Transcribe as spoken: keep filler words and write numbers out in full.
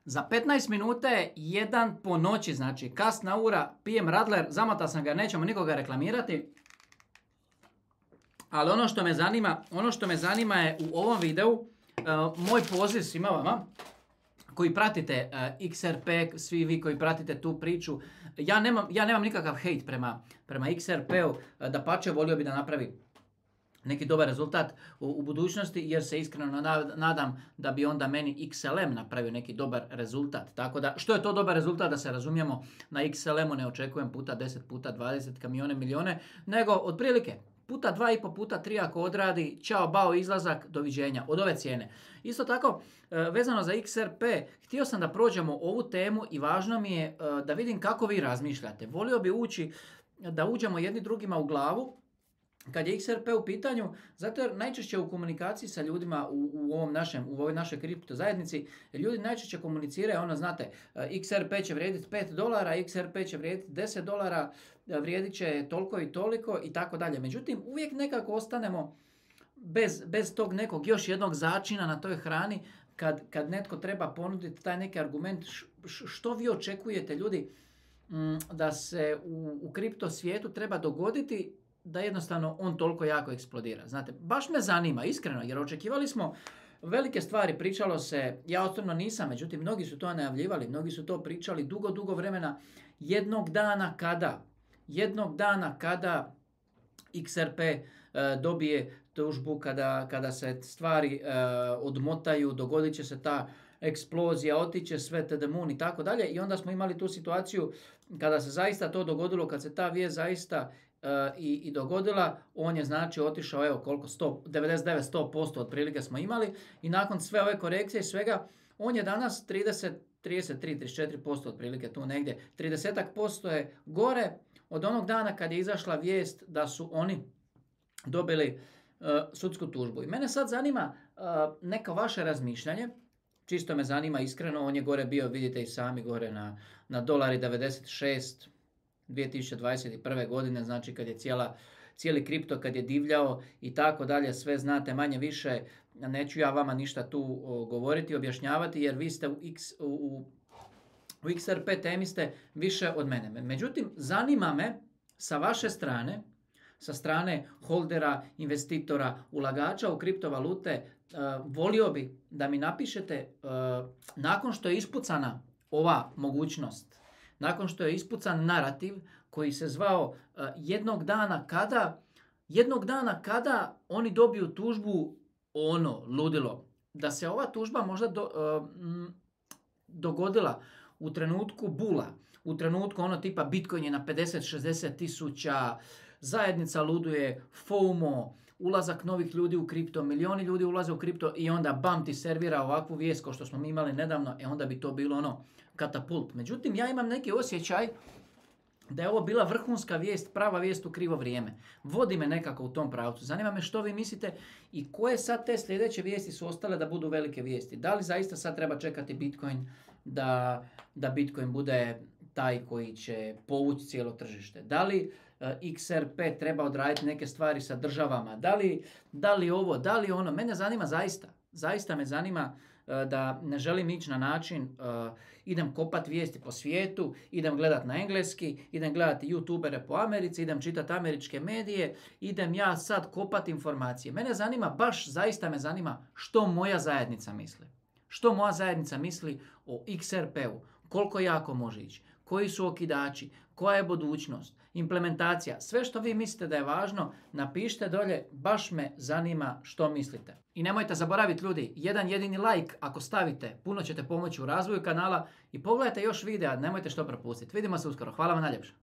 Za petnaest minuta je jedan po noći, znači kasna ura, pijem Radler, zamata sam ga, nećemo nikoga reklamirati. Ali ono što me zanima, ono što me zanima je u ovom videu, uh, moj poziv svima vama koji pratite uh, X R P, svi vi koji pratite tu priču. Ja nemam, ja nemam nikakav hejt prema, prema X R P-u, uh, dapače volio bi da napravi neki dobar rezultat u, u budućnosti, jer se iskreno nadam da bi onda meni X L M napravio neki dobar rezultat. Tako da, što je to dobar rezultat, da se razumijemo, na X L M-u ne očekujem puta deset, puta dvadeset, kamione, milijone, nego otprilike puta dva i po, puta tri ako odradi, čao, bao, izlazak, doviđenja, od ove cijene. Isto tako, vezano za X R P, htio sam da prođemo ovu temu i važno mi je da vidim kako vi razmišljate. Volio bi ući, da uđemo jedni drugima u glavu, kad je X R P u pitanju, zato jer najčešće u komunikaciji sa ljudima u, u ovom našem, u ovoj našoj kripto zajednici, ljudi najčešće komuniciraju, ono znate, X R P će vrijediti pet dolara, X R P će vrijediti deset dolara, vrijedit će toliko i toliko i tako dalje. Međutim, uvijek nekako ostanemo bez, bez tog nekog još jednog začina na toj hrani, kad, kad netko treba ponuditi taj neki argument, š, što vi očekujete ljudi da se u, u kripto svijetu treba dogoditi da jednostavno on toliko jako eksplodira. Znate, baš me zanima, iskreno, jer očekivali smo velike stvari, pričalo se, ja osobno nisam, međutim, mnogi su to najavljivali, mnogi su to pričali dugo, dugo vremena, jednog dana kada, jednog dana kada X R P e, dobije tužbu, kada, kada se stvari e, odmotaju, dogodit će se ta eksplozija, otiće sve to the moon i tako dalje, i onda smo imali tu situaciju kada se zaista to dogodilo, kad se ta vijest zaista Uh, i, i dogodila, on je znači otišao, evo koliko, sto, devedeset devet do sto posto otprilike smo imali, i nakon sve ove korekcije i svega, on je danas trideset, trideset tri, trideset četiri posto otprilike tu negdje, trideset posto je gore od onog dana kad je izašla vijest da su oni dobili uh, sudsku tužbu. I mene sad zanima uh, neko vaše razmišljanje, čisto me zanima iskreno, on je gore bio, vidite i sami, gore na, na dolari devedeset šest dvije tisuće dvadeset prve godine, znači kad je cijela, cijeli kripto kad je divljao i tako dalje, sve znate manje više, neću ja vama ništa tu o, govoriti, objašnjavati, jer vi ste u, X, u, u X R P temi ste više od mene. Međutim, zanima me sa vaše strane, sa strane holdera, investitora, ulagača u kriptovalute, uh, volio bi da mi napišete uh, nakon što je ispucana ova mogućnost, nakon što je ispucan narativ koji se zvao uh, jednog dana kada, jednog dana kada oni dobiju tužbu, ono, ludilo, da se ova tužba možda do, uh, m, dogodila u trenutku bula, u trenutku ono tipa Bitcoin je na pedeset šezdeset tisuća, zajednica luduje, FOMO, ulazak novih ljudi u kripto, milioni ljudi ulaze u kripto i onda bam ti servira ovakvu vijest kao što smo mi imali nedavno, e onda bi to bilo ono katapult. Međutim, ja imam neki osjećaj da je ovo bila vrhunska vijest, prava vijest u krivo vrijeme. Vodi me nekako u tom pravcu. Zanima me što vi mislite i koje sad te sljedeće vijesti su ostale da budu velike vijesti. Da li zaista sad treba čekati Bitcoin da, da Bitcoin bude taj koji će povući cijelo tržište? Da li uh, X R P treba odraditi neke stvari sa državama? Da li, da li ovo, da li ono? Mene zanima zaista. Zaista me zanima uh, da ne želim ići na način uh, idem kopat vijesti po svijetu, idem gledat na engleski, idem gledati youtubere po Americi, idem čitati američke medije, idem ja sad kopat informacije. Mene zanima, baš zaista me zanima što moja zajednica misli. Što moja zajednica misli o X R P-u, koliko jako može ići, koji su okidači, koja je budućnost, implementacija, sve što vi mislite da je važno, napišite dolje, baš me zanima što mislite. I nemojte zaboraviti ljudi, jedan jedini like ako stavite, puno ćete pomoći u razvoju kanala i pogledajte još videa, nemojte što propustiti. Vidimo se uskoro, hvala vam najljepše.